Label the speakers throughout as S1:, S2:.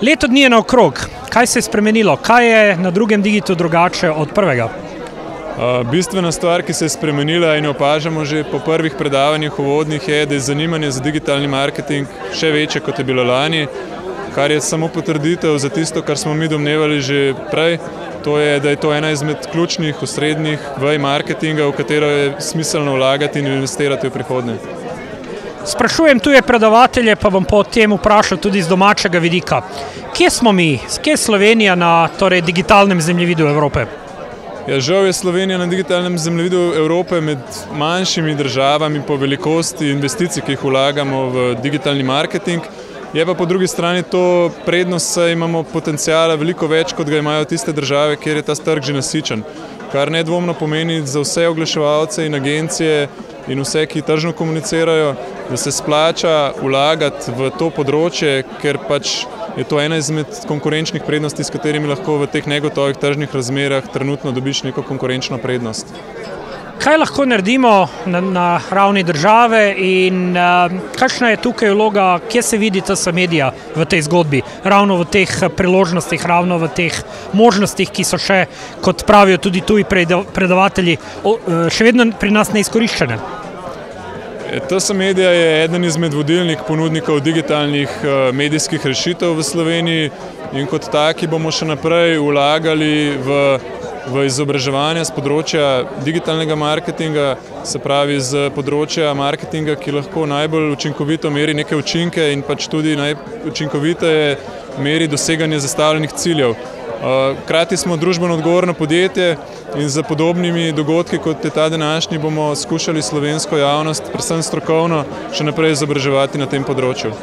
S1: Leto dni je naokrog. Kaj se je spremenilo? Kaj je na drugem digitu drugače od prvega?
S2: Bistvena stvar, ki se je spremenila in jo opažamo že po prvih predavanjih uvodnih, je, da je zanimanje za digitalni marketing še večje, kot je bilo lani, kar je samo potrditev za tisto, kar smo mi domnevali že prej. To je, da je to ena izmed ključnih, osrednjih vej marketinga, v katero je smiselno vlagati in investirati v prihodnje.
S1: Sprašujem tuje predavatelje, pa bom potem vprašal tudi z domačega vidika. Kje smo mi? Kje je Slovenija na digitalnem zemljevidu Evrope?
S2: Ja, žal je Slovenija na digitalnem zemljevidu Evrope med manjšimi državami po velikosti investicij, ki jih vlagamo v digitalni marketing. Je pa po drugi strani to prednost, saj imamo potencijala veliko več, kot ga imajo tiste države, kjer je ta trg že nasičen. Kar nedvomno pomeni za vse oglaševalce in agencije in vse, ki tržno komunicirajo, da se splača vlagati v to področje, ker pač je to ena izmed konkurenčnih prednosti, s katerimi lahko v teh negotovih tržnih razmerah trenutno dobiš neko konkurenčno prednost.
S1: Kaj lahko naredimo na ravni države in kakšna je tukaj vloga, kje se vidi TS Media v tej zgodbi, ravno v teh priložnostih, ravno v teh možnostih, ki so še, kot pravijo tudi tuji predavatelji, še vedno pri nas neizkoriščene?
S2: TS Media je eden izmed vodilnih ponudnikov digitalnih medijskih rešitev v Sloveniji in kot taki bomo še naprej vlagali v izobraževanje z področja digitalnega marketinga, se pravi z področja marketinga, ki lahko najbolj učinkovito meri neke učinke in pač tudi najučinkoviteje meri doseganje zastavljenih ciljev. Hkrati smo družbeno odgovorno podjetje in z podobnimi dogodki, kot je ta današnji, bomo skušali slovensko javnost, predvsem strokovno, še naprej izobraževati na tem področju.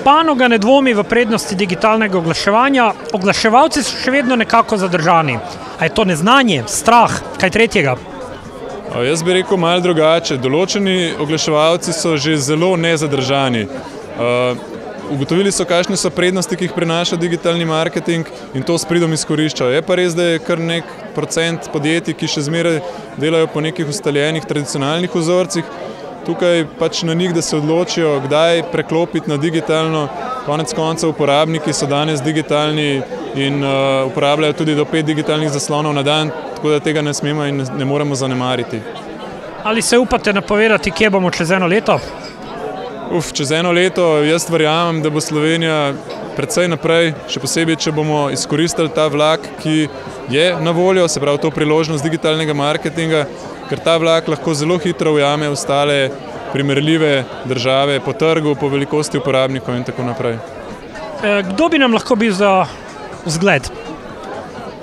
S1: Panoga ne dvomi v prednosti digitalnega oglaševanja, oglaševalci so še vedno nekako zadržani. A je to neznanje, strah, kaj tretjega?
S2: Jaz bi rekel malo drugače. Določeni oglaševalci so že zelo nezadržani. Ugotovili so, kakšne so prednosti, ki jih prinaša digitalni marketing in to s pridom izkoriščajo. Je pa res, da je kar nek procent podjetij, ki še zmeraj delajo po nekih ustaljenih tradicionalnih vzorcih. Tukaj pač na njih, da se odločijo, kdaj preklopiti na digitalno. Konec koncev uporabniki so danes digitalni in uporabljajo tudi do 5 digitalnih zaslonov na dan, tako da tega ne smemo in ne moremo zanemariti.
S1: Ali se upate napovedati, kje bomo čez eno leto?
S2: Čez eno leto jaz verjamem, da bo Slovenija precej naprej, še posebej, če bomo izkoristili ta vlak, ki je na voljo, se pravi to priložnost digitalnega marketinga, ker ta vlak lahko zelo hitro ujame ostale primerljive države po trgu, po velikosti uporabnikov in tako naprej.
S1: Kdo bi nam lahko bil za vzgled?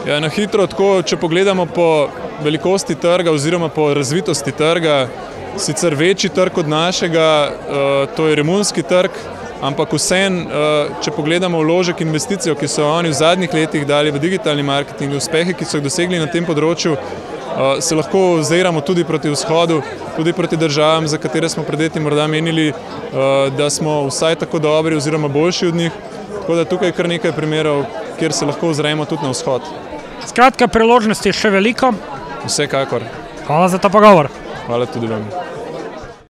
S2: Ja, na hitro tako, če pogledamo po velikosti trga oziroma po razvitosti trga, sicer večji trg od našega, to je romunski trg, ampak vseeno, če pogledamo vložek investicijo, ki so oni v zadnjih letih dali v digitalni marketing, uspehe, ki so jih dosegli na tem področju, se lahko oziramo tudi proti vzhodu, tudi proti državam, za katere smo pred leti morda menili, da smo vsaj tako dobri oziroma boljši od njih. Tako da tukaj je kar nekaj primerov, kjer se lahko ozremo tudi na vzhod.
S1: Skratka, priložnosti je še veliko.
S2: Vsekakor.
S1: Hvala za ta pogovor.
S2: Hvala tudi vam.